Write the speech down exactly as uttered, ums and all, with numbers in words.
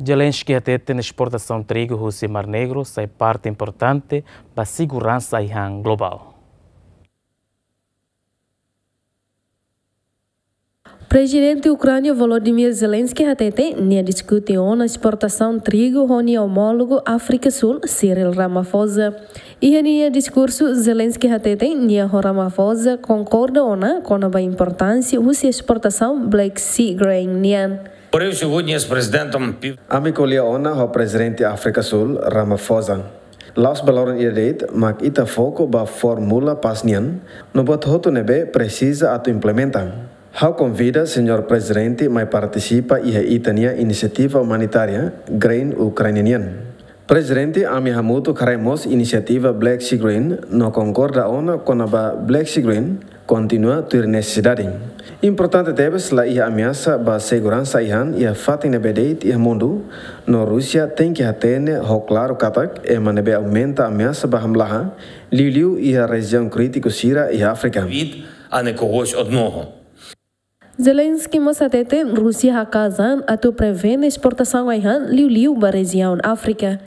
Zelensky hateten esportasaun trigu husi Mar Negru sai parte importante ba seguransa ai-han globál. Prezidente Ukránia Volodymyr Zelensky hateten nia diskute ona esportasaun trigu ho nia omólogu Áfrika Súl, Cyril Ramaphosa. Iha nia diskursu, Zelensky hateten nia ho Ramaphosa konkorda ona kona-ba importánsia husi esportasaun Black Sea Grain nian. Говорив сьогодні з президентом Пів- Ami ko'alia ona ho Prezidente Áfrika Súl, Ramaphosa. La'ós ba loron ida de'it, mak ita foku ba fórmula pás nian, no buat hotu ne'ebé presiza atu implementa. Ha'u konvida Señór Prezidente mai partisipa iha ita-nia inisiativa umanitária Grain Ukraine nian. Prezidente, ami hamutuk haree mós inisiativa Black Sea Grain no konkorda ona kona-ba Black Sea Grain kontinua tuir nesesidade. Importante tebes, la iha ameasa ba seguransa ai-han iha fatin ne'ebé de'it iha mundu, no Rúsia tenke hatene ho klaru katak ema ne'ebé aumenta ameasa ba hamlaha, liuliu iha rejiaun krítiku sira iha Áfrika. Від, а не когось одного. Zelensky mós hateten Rúsia haka'as an atu prevene esportasaun ai-han liuliu ba rejiaun Áfrika.